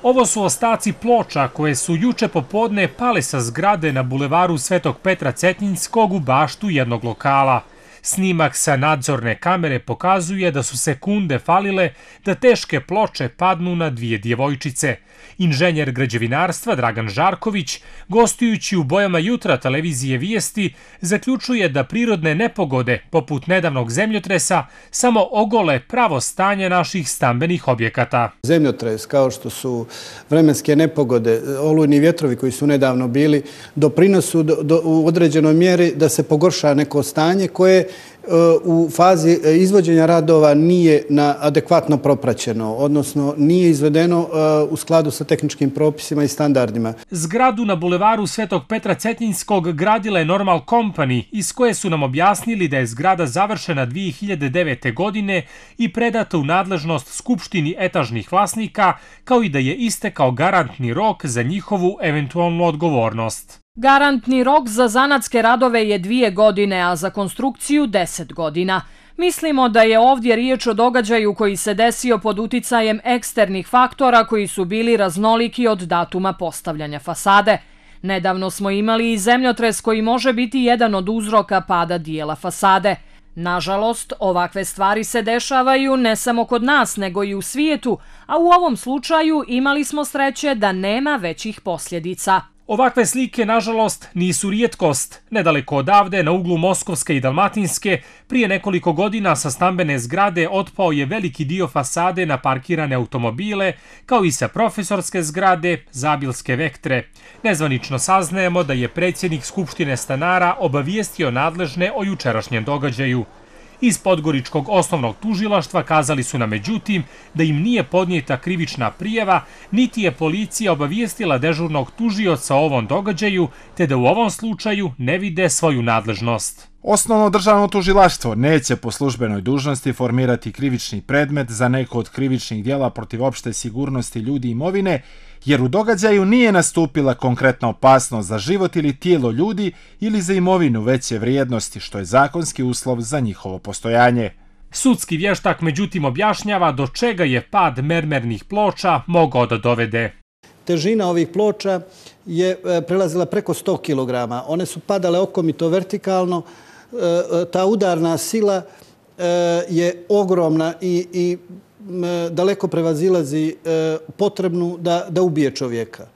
Ovo su ostaci ploča koje su juče popodne pale sa zgrade na bulevaru Svetog Petra Cetinjskog u baštu jednog lokala. Snimak sa nadzorne kamere pokazuje da su sekunde falile da teške ploče padnu na dvije djevojčice. Inženjer građevinarstva Dragan Žarković, gostujući u Bojama jutra televizije Vijesti, zaključuje da prirodne nepogode, poput nedavnog zemljotresa, samo ogole pravo stanje naših stambenih objekata. Zemljotres, kao što su vremenske nepogode, olujni vjetrovi koji su nedavno bili, doprinosu u određenoj mjeri da se pogorša neko stanje koje u fazi izvođenja radova nije adekvatno propraćeno, odnosno nije izvedeno u skladu sa tehničkim propisima i standardima. Zgradu na bulevaru Svetog Petra Cetinjskog gradila je Normal Company, iz koje su nam objasnili da je zgrada završena 2009. godine i predata u nadležnost Skupštini etažnih vlasnika, kao i da je istekao garantni rok za njihovu eventualnu odgovornost. Garantni rok za zanatske radove je 2 godine, a za konstrukciju 10 godina. Mislimo da je ovdje riječ o događaju koji se desio pod uticajem eksternih faktora koji su bili raznoliki od datuma postavljanja fasade. Nedavno smo imali i zemljotres koji može biti jedan od uzroka pada dijela fasade. Nažalost, ovakve stvari se dešavaju ne samo kod nas, nego i u svijetu, a u ovom slučaju imali smo sreće da nema većih posljedica. Ovakve slike, nažalost, nisu rijetkost. Nedaleko odavde, na uglu Moskovske i Dalmatinske, prije nekoliko godina sa stambene zgrade otpao je veliki dio fasade na parkirane automobile, kao i sa profesorske zgrade, Zabilske Vektre. Nezvanično saznajemo da je predsjednik Skupštine stanara obavijestio nadležne o jučerašnjem događaju. Iz Podgoričkog osnovnog tužilaštva kazali su nam međutim da im nije podnijeta krivična prijava, niti je policija obavijestila dežurnog tužioca o ovom događaju, te da u ovom slučaju ne vide svoju nadležnost. Osnovno državno tužilaštvo neće po službenoj dužnosti formirati krivični predmet za neko od krivičnih djela protiv opšte sigurnosti ljudi i imovine, jer u događaju nije nastupila konkretna opasnost za život ili tijelo ljudi ili za imovinu veće vrijednosti, što je zakonski uslov za njihovo postojanje. Sudski vještak međutim objašnjava do čega je pad mermernih ploča mogao da dovede. Težina ovih ploča je prelazila preko 100 kg. One su padale okomito vertikalno. Ta udarna sila je ogromna i daleko prevazilazi potrebnu da ubije čovjeka.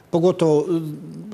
Pogotovo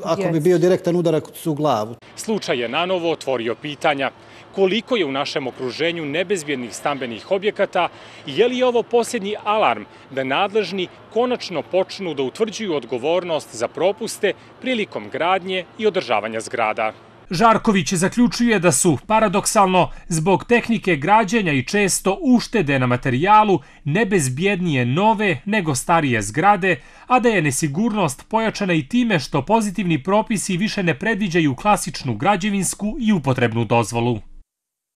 ako bi bio direktan udarac u glavu. Slučaj je nanovo otvorio pitanja. Koliko je u našem okruženju nebezbjednih stambenih objekata i je li ovo posljednji alarm da nadležni konačno počnu da utvrđuju odgovornost za propuste prilikom gradnje i održavanja zgrada. Žarković zaključuje da su, paradoksalno, zbog tehnike građenja i često uštede na materijalu, nebezbjednije nove nego starije zgrade, a da je nesigurnost pojačana i time što pozitivni propisi više ne predviđaju klasičnu građevinsku i upotrebnu dozvolu.